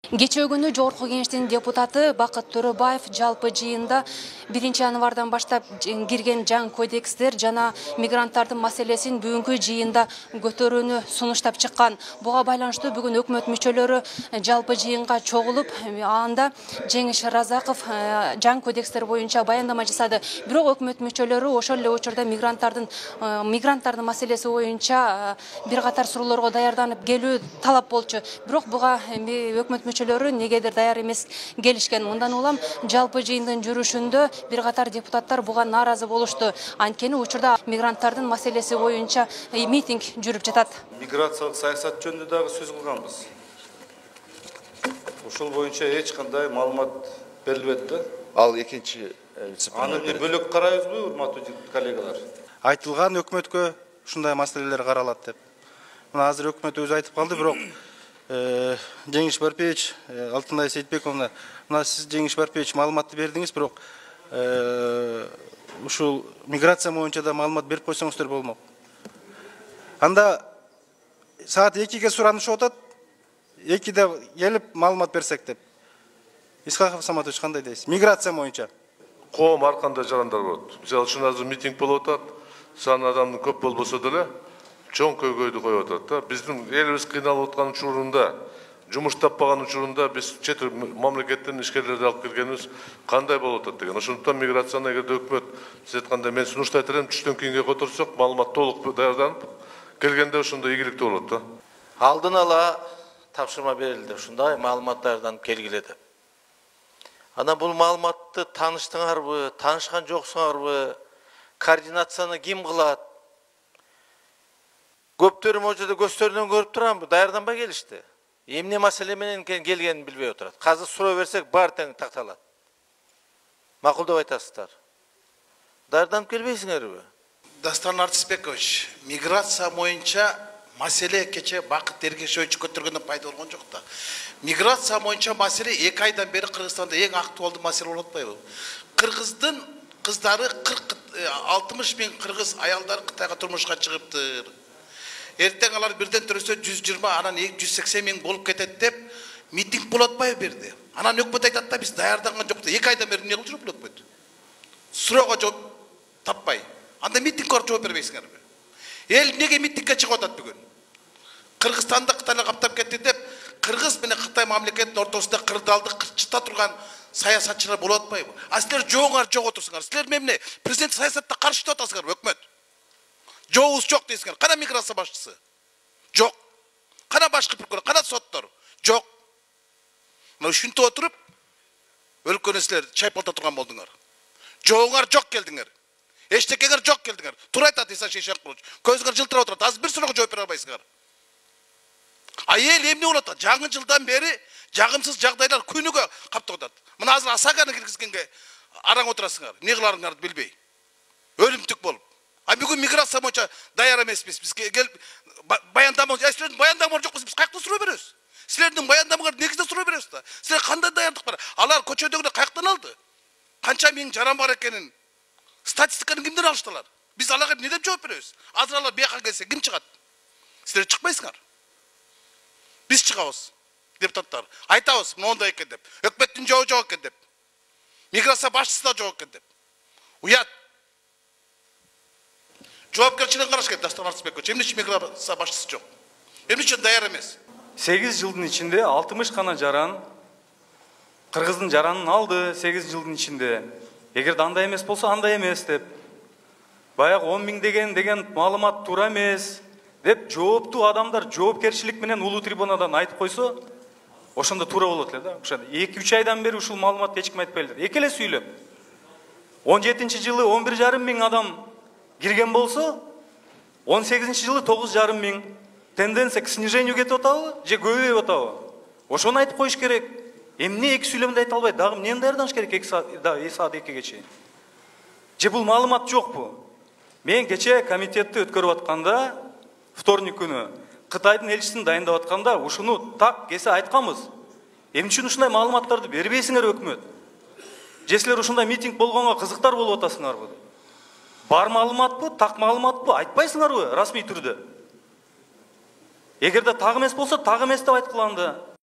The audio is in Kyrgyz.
Кечээ күнү Жогорку Кеңештин депутаты Бакыт Төрөбаев жалпы жыйында 1 январдан баштап кирген жаңы кодекстер жана мигранттардын маселесин бүгүнкү жыйында көтөрүүнү сунуштап чыккан. Буга байланыштуу бүгүн өкмөт мүчөлөрү жалпы жыйынга чогулуп, анда Жеңиш Разаков жаңы кодекстер боюнча баяндама жасады. Бирок өкмөт мүчөлөрү ошол эле учурда мигранттардын маселеси боюнча бир катар суроолорго даярданып келүү талап болчу. Бирок буга өкмөт мүчөлөрү негедир даяр эмес келишкен. Мындан улам жалпы жыйындын жүрүшүндө бир катар депутаттар буга нааразы болушту. Анткени учурда мигранттардын маселеси боюнча митинг жүрүп жатат. Миграциялык саясат жөнүндө дагы сөз кылганбыз. Ошол боюнча эч кандай маалымат берилбеди да. Ал экинчи Аны бөлөк карайбызбы, урматтуу коллегалар? Айтылган өкмөткө ушундай маселелер каралат деп. Мына азыр өкмөт өзү айтып калды, бирок Жеңиш Барпиевич, Алтынай Сейитбековна, мына сиз Жеңиш Барпиевич маалыматты бердиңиз, бирок ушул миграция боюнча да маалымат берип койсоңуздар болмок. Анда саат 2-ге суранышып атат, 2-де келип маалымат берсек деп. Исхаков Саматович, кандай дейсиз? Миграция боюнча. Коом ар кандай жарандар болот. Мисалы үчүн азыр митинг болуп атат, саны адамдын көп болбосо деле чоң көйгөйдү коюп атат да. Биздин элибиз кыйналып аткан учурунда, жумуш таппаган учурунда биз чет мамлекеттен ишкерлерди алып келгенибиз кандай болуп атат деген. Ошондуктан миграцияны эгерде өкмөт сиз айткандай мен сунуштайт элем, түштөн кийинге которсок, маалымат толук даярданып келгенде ошондой ийгиликтүү болот да. Алдын ала тапшырма берилди, ушундай маалымат даярданып келгиле деп. Ана бул маалыматты тааныштыңарбы, таанышкан жоксуңарбы, координацияны ким кылат? Көптөрү можода көздөрүнөн көрүп турамбы, даярданбай келишти. Эмне маселе менен келгенин билбей отурат. Азыр суроо берсек бар тең такталат. Макулдап айтасыздар. Даярданып келбейсиңерби? Дастан Артисбекович, миграция боюнча маселе кече Бакыт Эргешевич көтөргөндөн пайда болгон жок да. Миграция боюнча маселе 2 айдан бери Кыргызстанда эң актуалдуу маселе болуп атпайбы? Кыргыздын кыздары 60 миң кыргыз аялдар Кытайга турмушка чыгыптыр. Эртең алар бирден төрөсө 120, анан 180 миң болуп кетет деп митинг болуп атпайбы берди. Анан өкмөт айтат да биз даярданган жок да. 2 айдан бери эмне кылып жүр бул өкмөт? Суроого жооп таппай. Анда митингге жооп бербейсиңерби? Эл неге митингге чыгып атат бүгүн? Кыргызстанда Кытайлар каптап кетти деп, Кыргыз менен Кытай мамлекетинин ортосунда кырдаалды кырчыта турган саясатчылар болуп атпайбы? А силер жооңар жок отурсуңар. Силер эмне президент саясатта каршы туруп атасыңарбы, өкмөт? Жообуз жок дейсиңер. Кана миграция башчысы? Жок. Кана башкы прокурор, кана соттор? Жок. Мына ушинтип отуруп, өлкөнү силер чайпалта турган болдуңар. Жооңар жок келдиңер. Эчтекеңер жок келдиңер. Туура айтат Иса Шейшенкулович. Көзүңөр жылтырап отурат. Азыр бир суроого жооп бере албайсыңар. А эл эмне болуп атат? Жаңы жылдан бери жагымсыз жагдайлар күнүгө каптап атат. Мына азыр Асаганы киргизгенге араң отурасыңар. Эмне кыларыңарды билбей. Өлүмтүк болуп. А бүгүн миграция боюнча даяр эмеспиз. Биз келип баяндама, силердин баяндамаңар жок болсо биз каяктан суроо беребиз? Силердин баяндамаңар негизде суроо беребиз да. Силер кандай даярдык бар? Алар көчөдөгүлөр каяктан алды? Канча миң жаран бар экенин статистиканы кимден алыштылар? Биз аларга эмне деп жооп беребиз? Азыр алар бияка келсе ким чыгат? Силер чыкпайсыңар. Биз чыгабыз. Депутаттар айтабыз, мондай экен деп. Өкмөттүн жообу жок экен деп. Миграция башчысы да жок экен деп. Уят. Жоопкерчилигин караш керек, Дастан Артисбекович. Эмне үчүн миграция башчысы жок? Эмне үчүн даяр эмес? 8 жылдын ичинде 60 гана жаран Кыргыздын жаранын алды 8 жылдын ичинде. Эгерде андай эмес болсо андай эмес деп. Баягы 10 миң деген маалымат туура эмес деп жооптуу адамдар жоопкерчилик менен улуу трибунадан айтып койсо, ошондо туура болот эле да. Ошо 2-3 айдан бери ушул маалыматты эч ким айтпай эле. Эки эле сүйлөп. 17-жылы 11,5 миң адам кирген болсо, 18-жылы 9,5 миң. Тенденция к снижению кетип атабы же көбөйүп атабы? Ошону айтып коюш керек. Эмне эки сүйлөмдө айта албайт? Дагы эмнени даярданыш керек 2 саат 2-ге чейин? Же бул маалымат жокпу? Мен кече комитетти өткөрүп атканда, вторник күнү Кытайдын элчисин дайындап атканда ушуну так кесе айтканбыз. Эмне үчүн ушундай маалыматтарды бербейсиңер өкмөт? Же силер ушундай митинг болгонго кызыктар болуп атасыңарбы? Бар маалыматпы, так маалыматпы айтпайсыңарбы расмий түрдө? Эгерде так эмес болсо, так эмес деп айткыла анда.